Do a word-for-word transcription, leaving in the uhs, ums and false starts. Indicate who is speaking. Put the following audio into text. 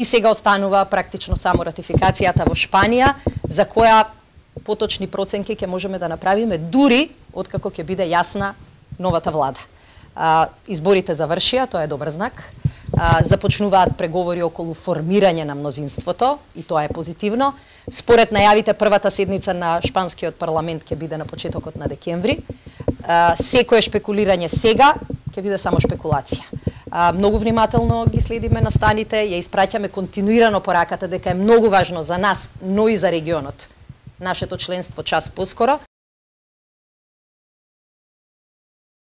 Speaker 1: И сега останува практично само ратификацијата во Шпанија, за која поточни проценки ќе можеме да направиме дури откако ќе биде јасна новата влада. А, изборите завршија, тоа е добар знак. А, започнуваат преговори околу формирање на мнозинството и тоа е позитивно. Според најавите, првата седница на шпанскиот парламент ќе биде на почетокот на декември. А, секое шпекулирање сега ќе биде само шпекулација. А, многу внимателно ги следиме настаните, ја испраќаме континуирано пораката дека е многу важно за нас, но и за регионот, нашето членство час поскоро.